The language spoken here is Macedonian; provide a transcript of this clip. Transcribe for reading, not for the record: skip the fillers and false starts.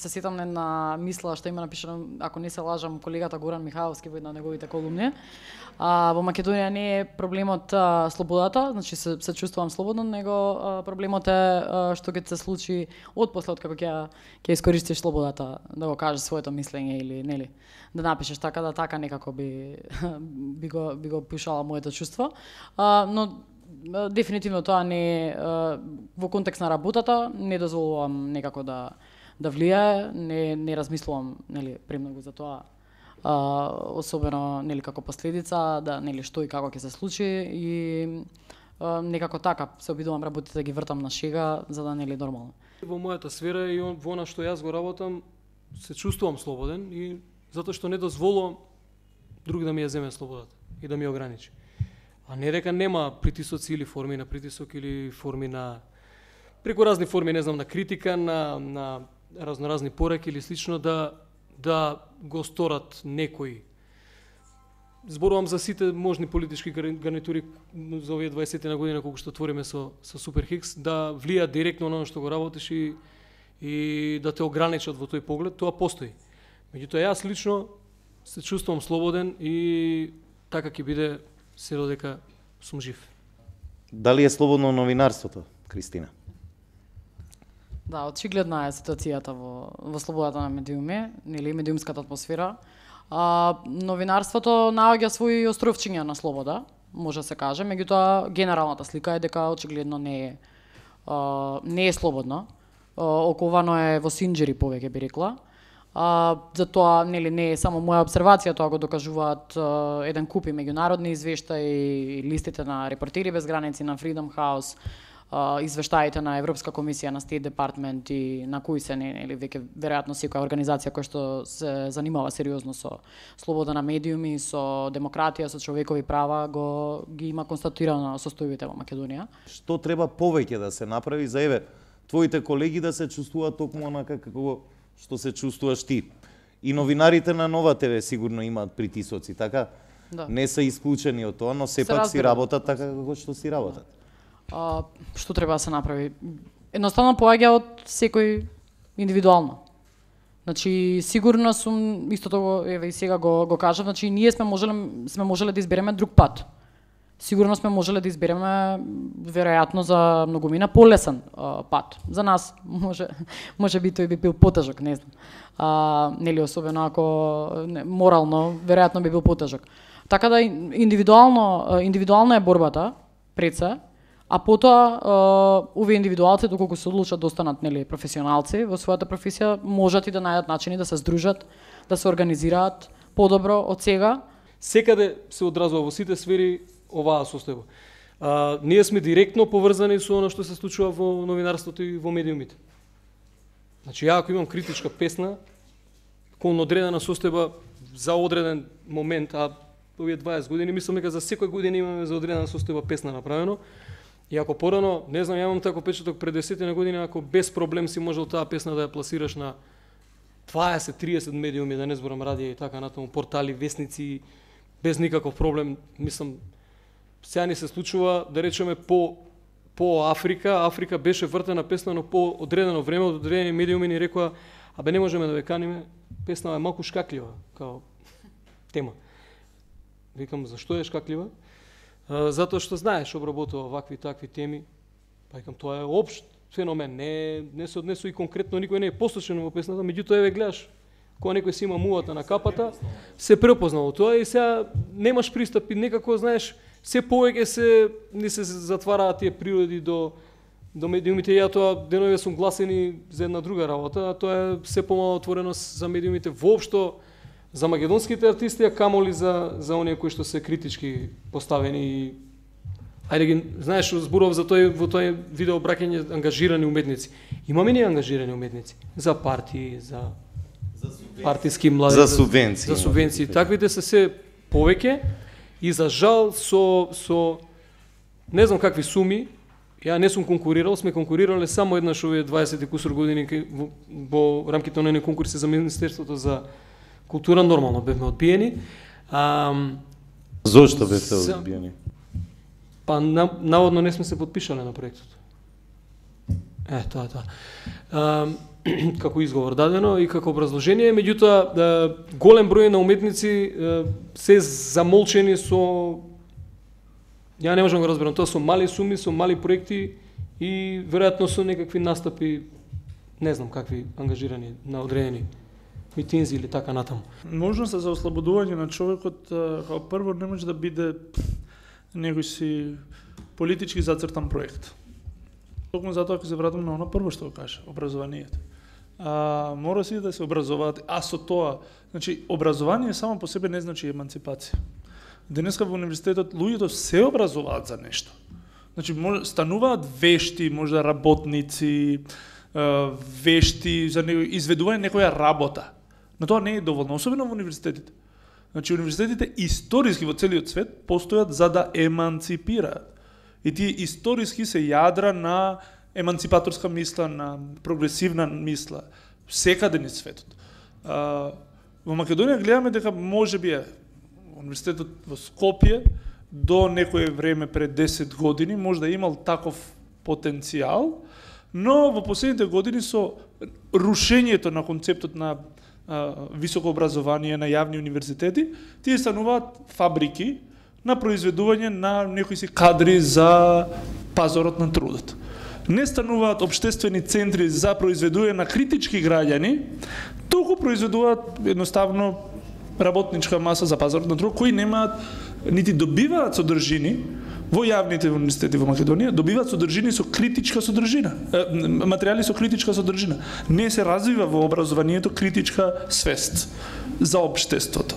се сетам на една мисла што има напишано, ако не се лажам, колегата Горан Михайловски во една од неговите колумни. Во Македонија не е проблемот слободата, значи се чувствувам слободно, него проблемот е што ќе се случи отпосле од како ќе искористиш слободата да го кажеш своето мислење или нели да напишеш така некако би го пишала моето чувство. Но дефинитивно тоа не е во контекст на работата, не дозволувам некако да влијае, не размислувам нели премногу за тоа. Особено нели како последица да нели што и како ќе се случи и некако така се обидувам работите да ги вртам на шега за да нели нормално. Во мојата сфера и во она што јас го работам се чувствувам слободен и затоа што не дозволувам друг да ми ја земе слободата и да ми ја ограничи. А не дека нема притисоци или форми на притисок или форми на преку разни форми, не знам, на критика, на разноразни пораки или слично да го сторат некои. Зборувам за сите можни политички гарнитури за овие 20 на година колку што твориме со Супер Хикс, да влијат директно на оно што го работиш и да те ограничат во тој поглед, тоа постои. Меѓутоа јас лично се чувствувам слободен и така ќе биде се додека сум жив. Дали е слободно новинарството, Кристина? Да, очигледна е ситуацијата во слободата на медиуми, нели медиумската атмосфера. Новинарството наоѓа своји островчиња на слобода, може да се каже, меѓутоа генералната слика е дека очигледно не е слободно. Оковано е во синџери повеќе би рекла. Затоа нели не е само моја обсервација, тоа го докажуваат еден куп и меѓународни извештаи, листите на Репортери без граници, на Freedom House, извештаите на Европска комисија, на State Department и на кои се нели веќе веројатно секоја организација која што се занимава сериозно со слобода на медиуми, со демократија, со човекови права, ги има констатирано состојбите во Македонија. Што треба повеќе да се направи за твоите колеги да се чувствуваат токму онака како што се чувствуваш ти? И новинарите на Нова ТВ сигурно имаат притисоци, така? Да. Не се исклучени од тоа, но сепак си работат така како што си работат. Што треба да се направи? Едноставно поаѓа од секој индивидуално. Значи сигурно сум истото еве и сега го кажав, значи ние сме можеле да избереме друг пат. Сигурно сме можеле да избереме веројатно за многумина полесен пат. За нас може би тој би бил потежок, не знам. Нели особено ако морално веројатно би бил потежок. Така да индивидуална е борбата пред се. А потоа овие индивидуалци доколку се одлучат да останат нели професионалци во својата професија, можат и да најдат начини да се здружат, да се организираат подобро од сега. Секаде се одразува во сите сфери оваа состојба. Ние сме директно поврзани со она што се случува во новинарството и во медиумите. Значи ја ако имам критичка песна кон одредена состојба за одреден момент, а овие 20 години мислам дека за секоја година имаме за одредена состојба песна направено. И ако порано, не знам, ја имам тако печаток пред 10 години, ако без проблем си можел таа песна да ја пласираш на 20-30 медиуми, да не зборам радија и така натаму, портали, весници, без никаков проблем, мислам, сега ни се случува, да речеме, по Африка беше вртена песна, но по одредено време, од одредени медиуми ни рекоа, абе не можеме да ве каниме, песна е малку шкаклива, као тема. Викам, зашто е шкаклива? Затоа што знаеш, обработува вакви такви теми, па викам, тоа е општ феномен, не се однесува и конкретно никој не е посочен во песната, меѓутоа еве гледаш, кога некој си има мувата на капата, се препознало тоа и сега немаш пристап и некако, знаеш, се повеќе ни се затвараат тие природи до медиумите. Ја тоа денове сум гласени за една друга работа, а тоа е се помало отвореност за медиумите воопшто, за македонските артисти, а камоли за оние кои што се критички поставени и ајде ги, знаеш, зборував за во тој видео браќање ангажирани уметници. Имаме ни ангажирани уметници за партии, за партиски млади, за субвенции. За субвенции. Таквите се повеќе и за жал со не знам какви суми. Ја не сум конкурирал, сме конкурирале само еднаш овие 20 и кусур години во рамките на оние конкурси за Министерството за култура, нормално бевме одбиени. Зошто бевте одбиени? Па наводно не сме се подпишале на проектот. Тоа. како изговор дадено и како образложение, меѓутоа голем број на уметници се замолчени со, ја не можам да го разберам, тоа со мали суми, со мали проекти и веројатно со некакви настапи, не знам какви ангажирани на одредени митинзи или така натаму. Можноста за ослободување на човекот како прво не може да биде некој си политички зацртан проект. Токму затоа ќе се вратам на оно прво што го кажа, образованието. Мора си да се образуваат, а со тоа, значи образование само по себе не значи еманципација. Денеска во универзитетот луѓето се образуваат за нешто. Значи стануваат вешти, можда работници, вешти за изведување некоја работа. Но тоа не е доволно, особено во универзитетите. Значи универзитетите историски во целиот свет постојат за да еманципираат. И тие историски се јадра на еманципаторска мисла, на прогресивна мисла, секаде низ светот. Во Македонија гледаме дека можеби универзитетот во Скопје до некое време пред 10 години може да имал таков потенцијал, но во последните години со рушењето на концептот на високо образование на јавни универзитети, тие стануваат фабрики на произведување на некои си кадри за пазарот на трудот. Не стануваат општествени центри за произведување на критички граѓани, туку произведуваат едноставно работничка маса за пазарот на трудот, кои немаат нити добиваат содржини во јавните универзитети во Македонија, добиваат содржини со критичка содржина, материјали со критичка содржина. Не се развива во образованието критичка свест за општеството.